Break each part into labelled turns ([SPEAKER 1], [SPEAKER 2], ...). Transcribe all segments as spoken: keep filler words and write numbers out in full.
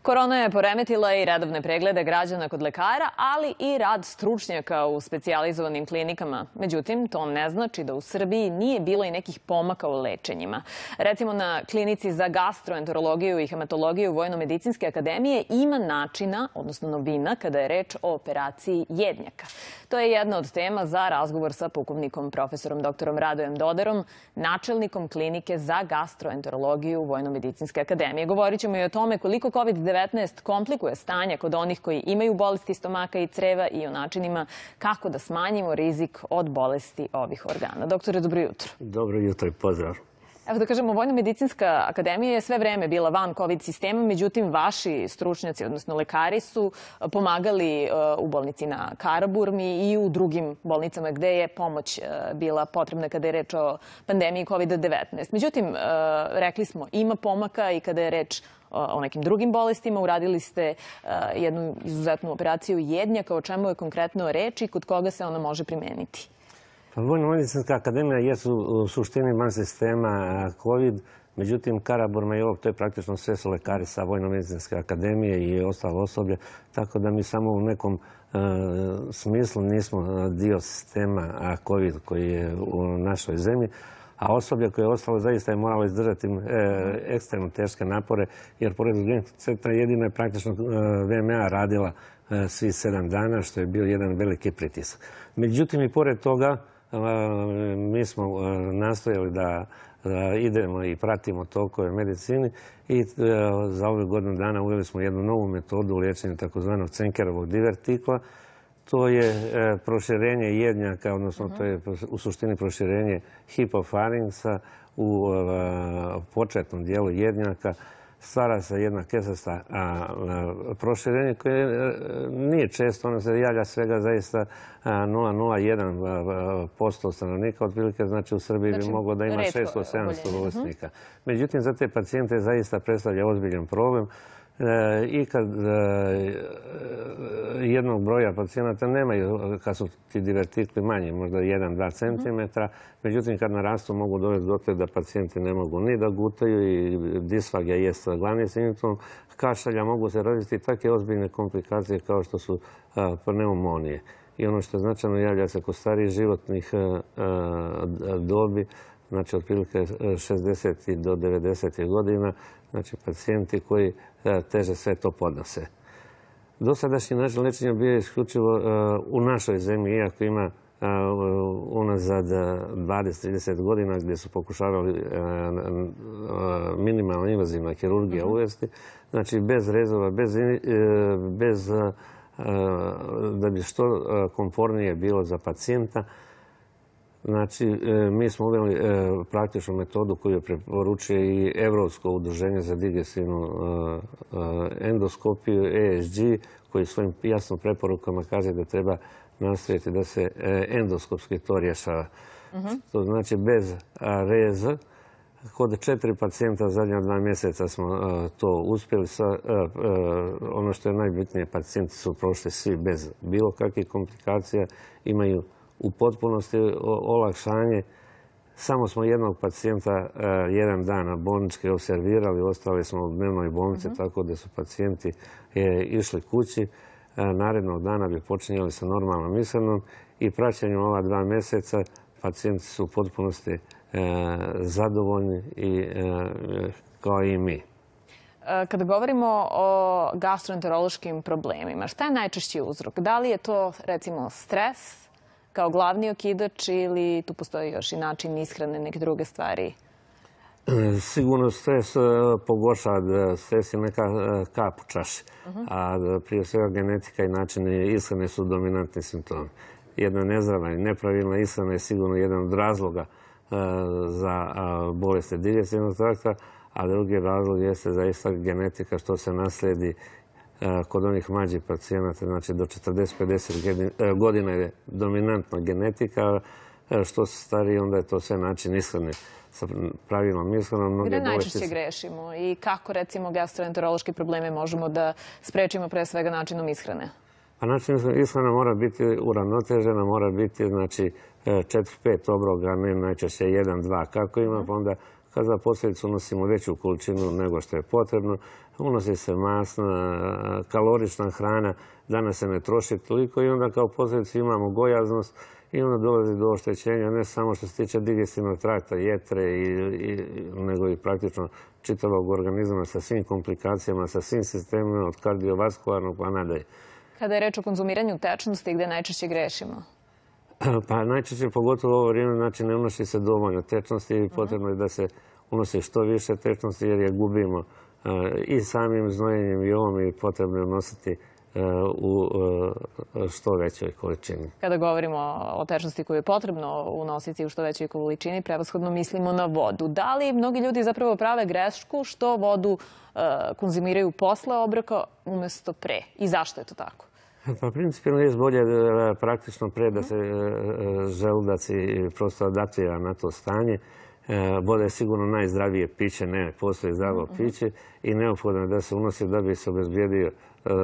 [SPEAKER 1] Korona je poremetila i redovne preglede građana kod lekara, ali i rad stručnjaka u specijalizovanim klinikama. Međutim, to ne znači da u Srbiji nije bilo i nekih pomaka u lečenjima. Recimo, na klinici za gastroenterologiju i hematologiju Vojno-medicinske akademije ima načina, odnosno novina, kada je reč o operaciji jednjaka. To je jedna od tema za razgovor sa pukovnikom profesorom doktorom Radojem Doderom, načelnikom klinike za gastroenterologiju Vojno-medicinske akademije. Govorit ćemo i o tome koliko kovid devetnaest komplikuje stanje kod onih koji imaju bolesti stomaka i creva i o načinima kako da smanjimo rizik od bolesti ovih organa. Doktore, dobro jutro.
[SPEAKER 2] Dobro jutro i pozdrav.
[SPEAKER 1] Evo da kažemo, Vojno-medicinska akademija je sve vreme bila van kovid sistema, međutim vaši stručnjaci, odnosno lekari, su pomagali u bolnici na Karaburmi i u drugim bolnicama gde je pomoć bila potrebna kada je reč o pandemiji kovid devetnaest. Međutim, rekli smo, ima pomaka i kada je reč o nekim drugim bolestima. Uradili ste jednu izuzetnu operaciju jednjaka, o čemu je konkretno reč i kod koga se ona može primeniti.
[SPEAKER 2] Vojno-medicinska akademija jesu u suštini van sistema COVID, međutim Karaburma i ovo, to je praktično sve su lekari sa Vojno-medicinske akademije i ostalo osoblje, tako da mi samo u nekom smislu nismo dio sistema COVID koji je u našoj zemlji, a osoblje koje je ostalo zaista je moralo izdržati ekstremno teške napore, jer pored centra jedino je praktično V M A radila svi sedam dana, što je bio jedan veliki pritisak. Međutim, i pored toga, mi smo nastojali da idemo i pratimo tokove medicini i za ove godinu dana uveli smo jednu novu metodu u liječenju takozvanog Cenkerovog divertikla. To je proširenje jednjaka, odnosno to je u suštini proširenje hipofarinksa u početnom dijelu jednjaka. Stvara se jedna kesasta proširenje koje nije često, ono se javlja svega zaista nula zarez jedan posto stanovnika, otprilike znači u Srbiji bi moglo da ima šesto do sedamsto bolesnika. Međutim, za te pacijente zaista predstavlja ozbiljan problem i kad jednog broja pacijenata nemaju, kad su ti divertikli manji, možda jedan do dva centimetra, međutim kad narastu mogu dovesti do toga da pacijenti ne mogu ni da gutaju i disfagija jest glavni simptom. Kašalja mogu se roditi takve ozbiljne komplikacije kao što su pneumonije. I ono što je značajno javlja se kod starijih životnih dobi, znači otprilike šezdeset do devedeset godina, znači pacijenti koji teže sve to podnose. Dosadašnji način lečenja bio je isključivo u našoj zemlji, iako ima unazad dvadeset do trideset godina gdje su pokušavali minimalno invazivna kirurgija uvesti, znači bez rezova, bez da bi što komfornije bilo za pacijenta. Znači, mi smo uveli praktičnu metodu koju preporučuje i Evropsko udruženje za digestivnu endoskopiju, E S G, koji svojim jasnim preporukama kaže da treba nastaviti da se endoskopski to rješava. To znači bez reza. Kod četiri pacijenta zadnja dva mjeseca smo to uspjeli. Ono što je najbitnije, pacijenti su prošli svi bez bilo kakvih komplikacija, imaju u potpunosti olakšanje. Samo smo jednog pacijenta jedan dan bolnički observirali, ostali smo u dnevnoj bolnici, tako da su pacijenti išli kući. Narednog dana bi počinjali sa normalnom ishranom i praćenjem ova dva mjeseca pacijenti su u potpunosti zadovoljni kao i mi.
[SPEAKER 1] Kada govorimo o gastroenterološkim problemima, šta je najčešći uzrok? Da li je to, recimo, stres kao glavni okidač ili tu postoji još i način ishrane, neke druge stvari?
[SPEAKER 2] Sigurno stres pogoršava, stres je neka kap u čaši, a prije svega genetika i načini ishrane su dominantni simptomi. Jedna nezdrava i nepravilna ishrana je sigurno jedan od razloga za bolesti digestivnog trakta, a drugi razlog jeste zaista genetika što se naslijedi kod onih mlađih pacijenata, znači do četrdeset do pedeset godina je dominantna genetika, što se stariji, onda je to sve način ishrane sa pravilnom ishranom.
[SPEAKER 1] Gde najčešće grešimo i kako, recimo, gastroenterološke probleme možemo da sprečimo pre svega načinom ishrane?
[SPEAKER 2] Pa način ishrana mora biti uravnotežena, mora biti, znači, četiri pet obroka, ne najčešće jedan dva kako ima, pa onda kad za posljedicu unosimo veću količinu nego što je potrebno. Unosi se masna, kalorična hrana, danas se ne troši toliko i onda kao posljedicu imamo gojaznost i onda dolazi do oštećenja ne samo što se tiče digestivnog trakta, jetre, i, i, nego i praktično čitavog organizma sa svim komplikacijama, sa svim sistemima od kardiovaskularnog pa nadalje.
[SPEAKER 1] Kada je reč o konzumiranju tečnosti, gde najčešće grešimo?
[SPEAKER 2] Pa najčešće, pogotovo u ovo vrijeme, znači ne unosi se dovoljno tečnosti i potrebno je da se unosi što više tečnosti jer je gubimo i samim znojenjem i ovom i potrebno je unositi u što većoj količini.
[SPEAKER 1] Kada govorimo o tečnosti koju je potrebno unositi u što većoj količini, prevashodno mislimo na vodu. Da li mnogi ljudi zapravo prave grešku što vodu konzumiraju posle obroka umjesto pre? I zašto je to tako?
[SPEAKER 2] Pa principijalno je bolje praktično pre da se želudac i prosto adaptira na to stanje. Voda je sigurno najzdravije piće, ne postoji zdravo piće i neophodno je da se unosi da bi se obezbijedio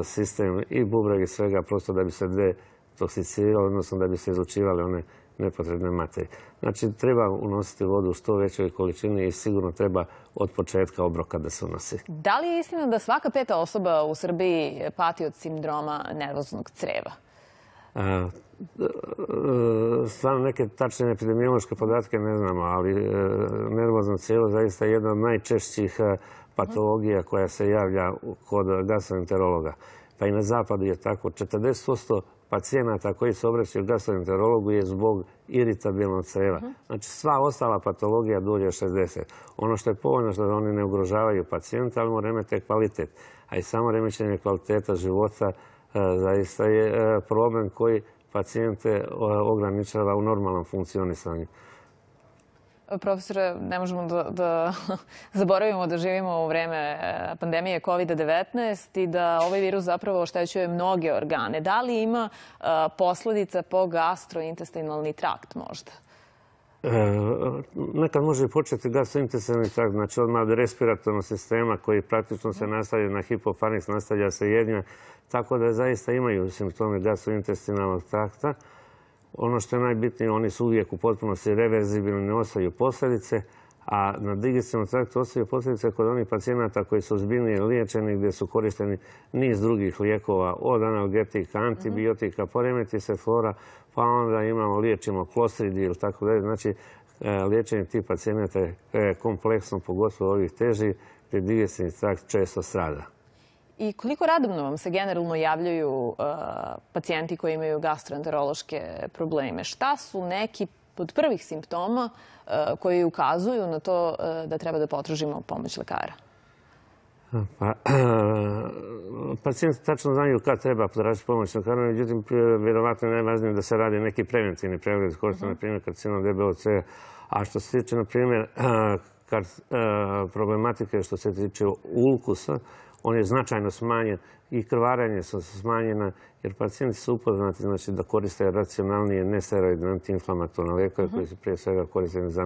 [SPEAKER 2] sistem i bubrega i svega, prosto da bi se detoksicirali, odnosno da bi se izlučivali one nepotrebne materije. Znači, treba unositi vodu u što većoj količini i sigurno treba od početka obroka da se unosi.
[SPEAKER 1] Da li je istina da svaka peta osoba u Srbiji pati od sindroma nervoznog creva?
[SPEAKER 2] Stvarno neke tačne epidemiološke podatke ne znamo, ali nervozno crijevo zaista je jedna od najčešćih patologija koja se javlja kod gastroenterologa. Pa i na zapadu je tako. četrdeset posto pacijenata koji se obraćaju gastroenterologu je zbog iritabilnog creva. Znači sva ostala patologija dulje od šezdeset. Ono što je povoljno što oni ne ugrožavaju pacijenta, ali mu remete kvalitet. A i samo remećenje kvaliteta života zaista je problem koji pacijente ograničava u normalnom funkcionisanju.
[SPEAKER 1] Profesore, ne možemo da, da zaboravimo da živimo u vreme pandemije kovid devetnaest i da ovaj virus zapravo oštećuje mnoge organe. Da li ima posledica po gastrointestinalni trakt možda?
[SPEAKER 2] E, nekad može početi gastrointestinalni trakt, znači odmah od respiratornog sistema koji praktično se nastavlja na hipofariks, nastavlja se jednja, tako da zaista imaju simptome gastrointestinalnog trakta. Ono što je najbitnije, oni su uvijek u potpunosti reverzibilni, ne ostaju posljedice, a na digestivnom traktu ostaju posljedice kod onih pacijenata koji su ozbiljnije liječeni, gdje su korišteni niz drugih lijekova, od analgetika, antibiotika, poremeti se flora, pa onda imamo, liječimo klostridij ili tako dalje. Znači, liječenje tih pacijenata je kompleksno, pogotovo ovih težih, gdje digestivni trakt često strada.
[SPEAKER 1] I koliko radovno vam se generalno javljaju uh, pacijenti koji imaju gastroenterološke probleme? Šta su neki od prvih simptoma uh, koji ukazuju na to uh, da treba da potražimo pomoć lekara?
[SPEAKER 2] Pa, pacijenti tačno znaju kad treba potražiti pomoć lekara, međutim, vjerovatno je najvažnije da se radi neki preventivni pregled, kao što je, na primjer, karcinom debelog crijeva. A što se tiče, na primjer, problematike što se tiče ulkusa, on je značajno smanjen i krvarenje su smanjena jer pacijenti su upoznati znači, da koriste racionalnije nesteroidne antiinflamatorne lijekove koji su prije svega koristeni za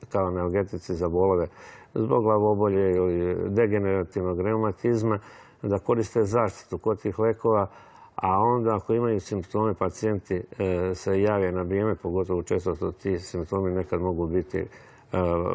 [SPEAKER 2] kao analgetici za bolove zbog glavobolje ili degenerativnog reumatizma, da koriste zaštitu kod tih lijekova, a onda ako imaju simptome pacijenti e, se jave na vrijeme, pogotovo često to ti simptomi nekad mogu biti e,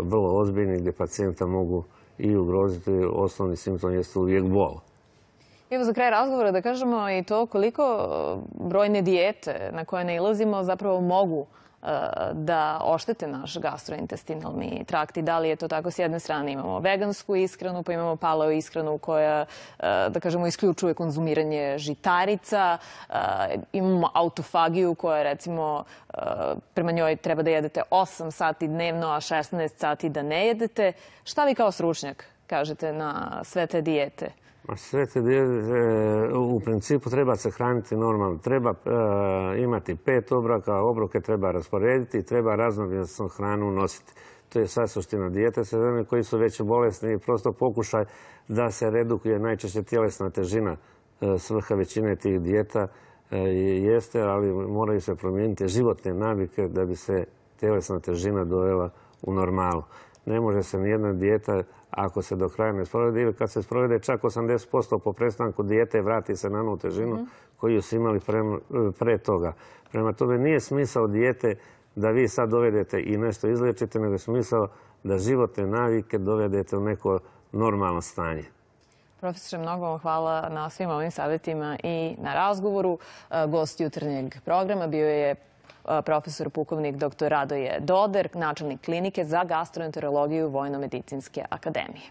[SPEAKER 2] vrlo ozbiljni gdje pacijenta mogu i ugroziti. Osnovni simptom jeste uvijek bol.
[SPEAKER 1] Evo za kraj razgovora da kažemo i to koliko brojne dijete na koje nailazimo zapravo mogu da oštete naš gastrointestinalni trakt i da li je to tako. S jedne strane imamo vegansku ishranu, pa imamo paleo ishranu koja, da kažemo, isključuje konzumiranje žitarica, imamo autofagiju koja, recimo, prema njoj treba da jedete osam sati dnevno, a šesnaest sati da ne jedete. Šta vi kao stručnjak kažete na sve te dijete?
[SPEAKER 2] Sve te dijete, u principu treba se hraniti normalno. Treba imati pet obroka, obroke treba rasporediti i treba raznovrsnu hranu nositi. To je sad suština dijete. Sa žene koji su već bolesni i prosto pokušaj da se redukuje najčešće tjelesna težina. Svrha većine tih dijeta jeste, ali moraju se promijeniti životne navike da bi se tjelesna težina dovela u normalu. Ne može se nijedna dijeta, ako se do kraja ne sprovede, ili kad se sprovede čak osamdeset posto po prestanku dijete, vrati se na onu težinu koju su imali pre, pre toga. Prema tome nije smisao dijete da vi sad dovedete i nešto izliječite, nego je smisao da životne navike dovedete u neko normalno stanje.
[SPEAKER 1] Profesore, mnogo vam hvala na svim ovim savjetima i na razgovoru. Gost jutarnjeg programa bio je profesor pukovnik doktor Radoje Doder, načelnik klinike za gastroenterologiju Vojno-medicinske akademije.